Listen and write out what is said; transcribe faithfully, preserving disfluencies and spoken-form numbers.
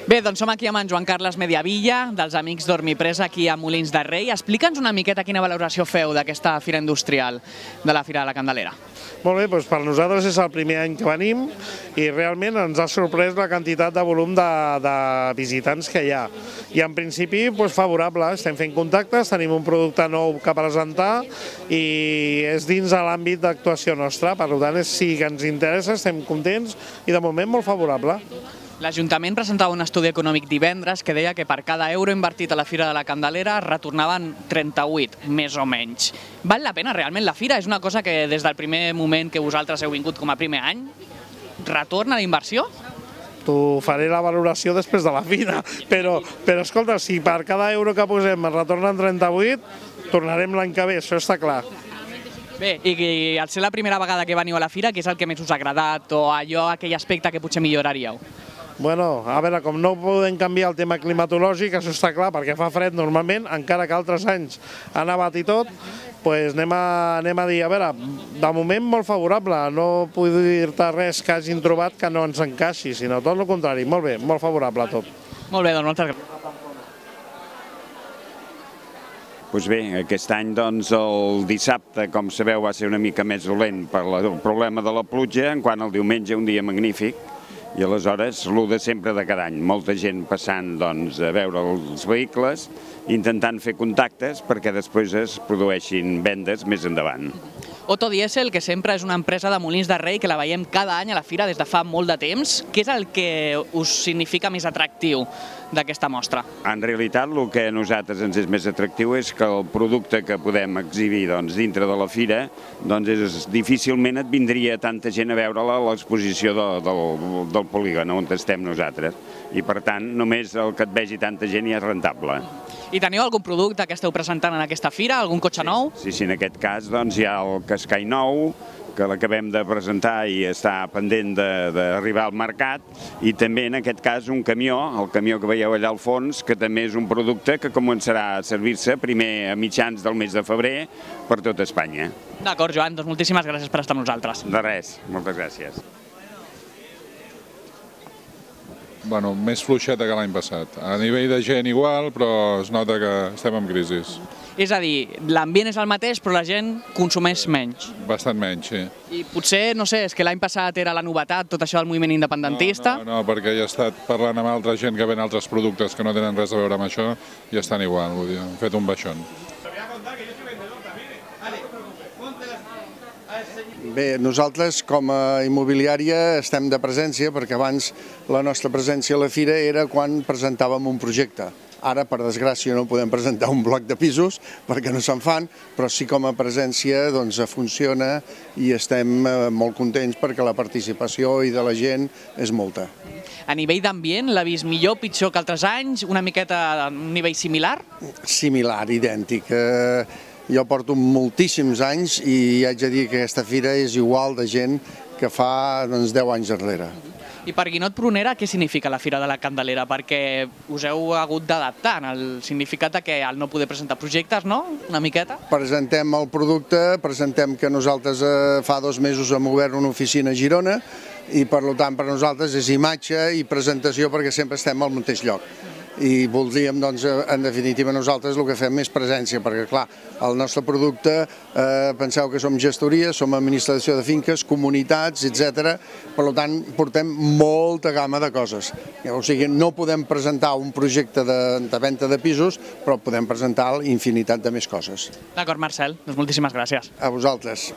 Bé, doncs som aquí amb en Joan Carles Mediavilla, dels Amics Dormipresa, aquí a Molins de Rei. Explica'ns una miqueta quina valoració feu d'aquesta fira industrial de la Fira de la Candelera. Molt bé, doncs per nosaltres és el primer any que venim i realment ens ha sorprès la quantitat de volum de, de visitants que hi ha. I en principi, doncs, favorable, estem fent contactes, tenim un producte nou que presentar i és dins de l'àmbit d'actuació nostra, per tant, sí que ens interessa, estem contents i de moment molt favorable. L'Ajuntament presentava un estudi econòmic divendres que deia que per cada euro invertit a la Fira de la Candelera retornaven trenta-vuit, més o menys. Val la pena realment la fira? És una cosa que des del primer moment que vosaltres heu vingut com a primer any, retorna d'inversió? T'ho faré la valoració després de la fira, però, però escolta, si per cada euro que posem es retornen trenta-vuit, tornarem l'any que ve, això està clar. Bé, i al ser la primera vegada que veniu a la fira, què és el que més us ha agradat o allò, aquell aspecte que potser milloraríeu? Bueno, a veure, com no podem canviar el tema climatològic, això està clar, perquè fa fred normalment, encara que altres anys ha nevat i tot, doncs anem a, anem a dir, a veure, de moment molt favorable, no puc dir-te res que hagin trobat que no ens encaixi, sinó tot el contrari, molt bé, molt favorable a tot. Molt bé, doncs moltes gràcies. Doncs bé, aquest any doncs, el dissabte, com sabeu, va ser una mica més dolent per el problema de la pluja, en quant el diumenge un dia magnífic, i aleshores l'u de sempre de cada any, molta gent passant doncs, a veure els vehicles, intentant fer contactes perquè després es produeixin vendes més endavant. Otto Diesel, que sempre és una empresa de Molins de Rei, que la veiem cada any a la fira des de fa molt de temps, què és el que us significa més atractiu d'aquesta mostra? En realitat, el que a nosaltres ens és més atractiu és que el producte que podem exhibir doncs, dintre de la fira, doncs és, difícilment et vindria tanta gent a veure-la a l'exposició de, del, del polígon on estem nosaltres. I per tant, només el que et vegi tanta gent ja és rentable. I teniu algun producte que esteu presentant en aquesta fira? Algun cotxe nou? Sí, sí, en aquest cas doncs, hi ha el Qashqai nou, que l'acabem de presentar i està pendent d'arribar al mercat, i també en aquest cas un camió, el camió que veieu allà al fons, que també és un producte que començarà a servir-se primer a mitjans del mes de febrer per tot Espanya. D'acord, Joan, doncs moltíssimes gràcies per estar amb nosaltres. De res, moltes gràcies. Bueno, més fluixeta que l'any passat. A nivell de gent igual, però es nota que estem en crisi. És a dir, l'ambient és el mateix, però la gent consumeix menys. Bastant menys, sí. I potser, no sé, és que l'any passat era la novetat, tot això del moviment independentista. No, no, no, perquè he estat parlant amb altra gent que ven altres productes que no tenen res a veure amb això i estan igual, vull dir, hem fet un baixón. Bé, nosaltres com a immobiliària estem de presència perquè abans la nostra presència a la fira era quan presentàvem un projecte. Ara, per desgràcia, no podem presentar un bloc de pisos perquè no se'n fan, però sí com a presència doncs, funciona i estem molt contents perquè la participació i de la gent és molta. A nivell d'ambient, l'ha vist millor, pitjor que altres anys? Una miqueta a un nivell similar? Similar, idèntic. Jo porto moltíssims anys i haig de dir que aquesta fira és igual de gent que fa doncs, deu anys enrere. I per Guinot Prunera, què significa la Fira de la Candelera? Perquè us heu hagut d'adaptar en el significat que al no poder presentar projectes, no? Una miqueta? Presentem el producte, presentem que nosaltres fa dos mesos hem obert una oficina a Girona i per tant per nosaltres és imatge i presentació perquè sempre estem al mateix lloc. I voldríem, doncs, en definitiva, nosaltres el que fem és presència, perquè, clar, el nostre producte, eh, penseu que som gestoria, som administració de finques, comunitats, etcètera. Per tant, portem molta gamma de coses. O sigui, no podem presentar un projecte de, de venda de pisos, però podem presentar infinitat de més coses. D'acord, Marcel, doncs moltíssimes gràcies. A vosaltres.